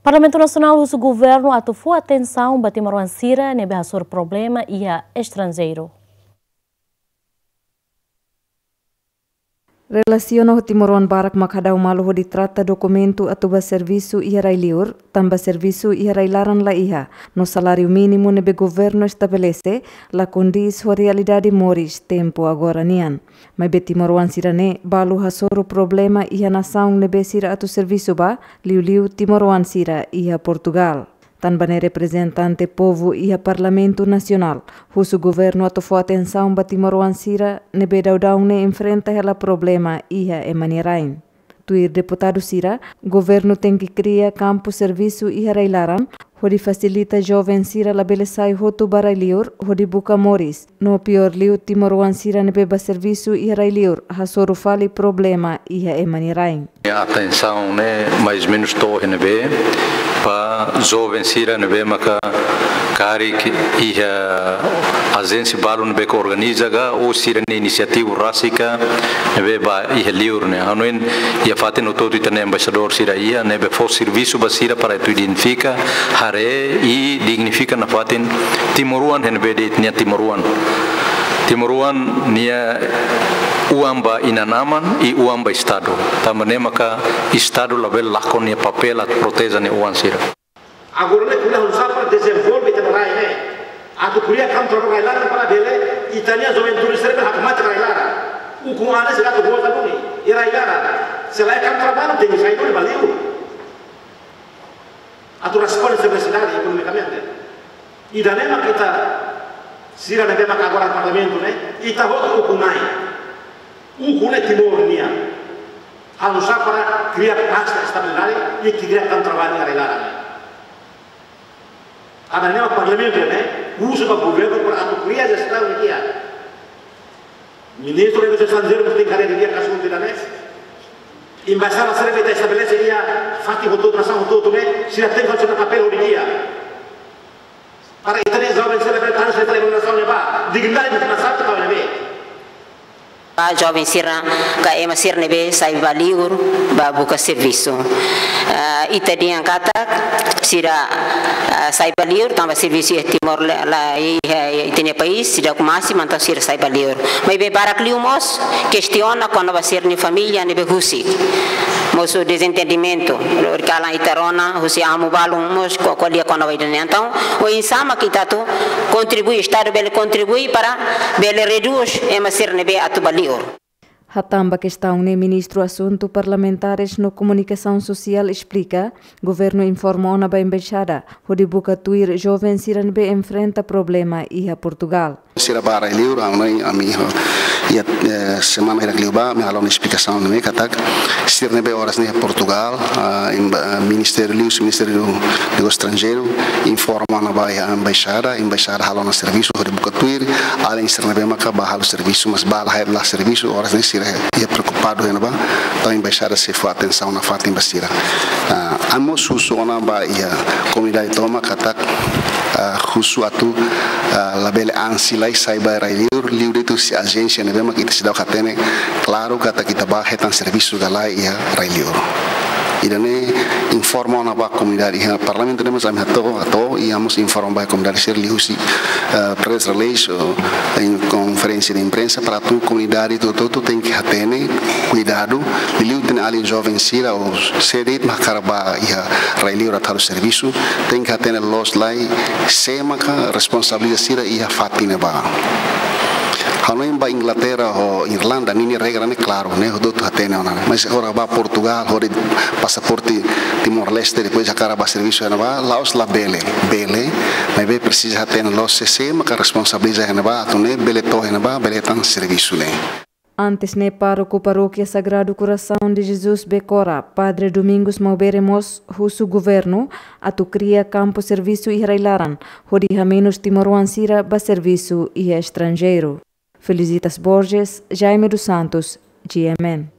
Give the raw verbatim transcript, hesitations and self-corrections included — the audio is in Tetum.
Parlamentu Nasionál husu governu atu fó atensaun ba timoroan sira ne'ebé hasoru problema iha estranjeiru. Relasiona ho timoroan barak mak hadau malu hodi trata dokumentu atu ba servisu iha rai-liur, tanba servisu iha rai-laran la iha, no saláriu mínimu ne'ebé governu estabelese la kondís ho realidade moris tempu agora nian. Maibé timoroan sira-ne'e balu hasoru problema iha nasaun ne'ebé sira atu servisu ba, liuliu timoroan sira iha Portugal. Tanba ne'e reprezentante povu iha Parlamentu Nasionál husu governu atu fó atensaun ba timoroan sira ne'ebé daudaun ne'e enfrenta hela problema iha ema nia rain. Tuir deputadu sira, governu tenke kria kampu servisu iha rai-laran, hodi fasilita joven sira labele sai hotu ba rai-liur, hodi buka moris. No piór liu timoroan sira ne'ebé ba servisu iha rai-liur, hasoru fali problema iha ema nia rain. Atensaun ne'e mais ou menus to'o iha ne'ebé, ba joven sira ne'ebé maka karik iha ajénsia balu ne'ebé ke organiza ka, ou sira-nia inisiativa rasik ka, ne'ebé ba iha liur ne'e. Hanoin iha fatin hotu-hotu ita-nia embaixadór sira iha, ne'ebé fó servisu ba sira para atu identifika, haree i dignifika nafatin timoroan iha ne'ebé de'it nia timoroan. Timoroan nia oan ba inan-aman i oan ba Estadu. Tanba ne'e maka Estadu labele lakon nia papél atu proteje nia oan sira. Agora ne'e ko'alia oinsá para dezenvolve ita-nia rai ne'e. Atu kria kampu traballu rai-laran para bele ita-nia juventude sira bele hakmatek rai-laran. Ukun an ne'e sira atu volta duni iha rai-laran. Se la iha kampu traballu tenke sai duni ba liur. Atu responde sira-nia nesesidade ekonomikamente. Ida-ne'e mak ita sira ne'ebé maka agora Parlamentu ne'e, ita hotu ukun-na'in. Ukun ne'e Timor nian. Halo oinsá para kria pás, estabilidade i kria kampu traballu iha rai-laran. Ida-ne'e mak Parlamentu ne'e husu ba governu para atu kria jestaun ne'e di'ak. Ministru Negósiu Estranjeiru mós tenke haree didi'ak asuntu ida-ne'e. Embaixada sira ne'ebé ita estabelese iha fatin hotu-hotu, nasaun hotu-hotu ne'e, sira tenke fó sira-nia papél ho di'ak. Para ita-nia joven sira bele tanu sira iha nasaun ne'ebá, dignidade nasaun ita ne'ebé. Ba joven sira ka ema sira ne'ebé sai ba liur ba buka servisu. Ah, ita dehan katak sira, ah, sai ba liur tanba servisu iha Timor la, la iha, iha ita-nia país seidauk masi, entaun sira sai ba liur. Maibé barak liu mós kestiona kona-ba sira-nia família ne'ebé husik. Mosu dezentendimentu, lori kalan ita rona husi amu balun mós ko-, ko'alia kona-ba ida-ne'e. Entaun oinsá mak ita atu kontribui, Estadu bele kontribui para bele redús ema sira ne'ebé atu ba liur. Hatán ba kestaun ne'e, Ministru Asuntu Parlamentares no Komunikasaun Sosiál esplika, governu informa ona ba embaixada hodi buka tuir joven sira ne'ebé enfrenta problema iha Portugal. Sira ba rai-liur, ami, ami, iha, eh, semana hirak liubá, ami halo ona esplikasaun ne'e katak sira ne'ebé oras ne'e iha Portugal, ah, emba-, ah, ministériu liu, Ministériu Negósiu Estranjeiru informa ona ba iha embaixada, embaixada halo ona servisu hodi buka tuir alin sira ne'ebé maka ba halo servisu, mas ba la, la servisu, oras ne'e sira iha preokupadu iha ne'ebá, entaun embaixada sei fó atensaun nafatin ba sira. Ah, ami mós husu ona ba iha komunidade tomak katak, ah, husu atu, ah, labele ansi lai sai ba rai-liur, liu de'it husi ajénsia ne'ebé mak ita seidauk hatene klaru katak ita ba hetan servisu ka lae iha rai-liur. Ida-ne'e informa ona ba komunidade iha Parlamentu ne'e mós ami hato'o, hato'o, i ami mós informa ba komunidade sira liuhusi, eh, press release, ou em konferénsia de imprensa, para atu komunidade hotu-hotu tenke hatene, kuidadu, liuliu ita-nia alin joven sira, ou sé de'it mak hakarak ba iha rai-liur atu halo servisu, tenke hatene loos lai sé maka responsabilidade sira iha fatin ne'ebá. Hanoin ba Inglaterra ho Irlanda, ninia regra ne'e klaru, ne'e hotu-hotu hatene ona. Mas agora ba Portugal, hodi pasaporte Timor-Leste, depois hakarak ba servisu iha ne'ebá, la'ós labele, bele, maibé presiza hatene loos sé, sé maka responsabiliza iha ne'ebá, atu nune'e bele to'o iha ne'ebá, bele hetan servisu ne'e. Antes ne'e, pároku Parókia Sagrado Coração de Jesus Becora, Padre Domingos Maubere mós husu governu atu kria kampu servisu iha rai-laran, hodi hamenus timoroan sira ba servisu iha estranjeiru. Felicitas Borges, Jaime dos Santos, G M N.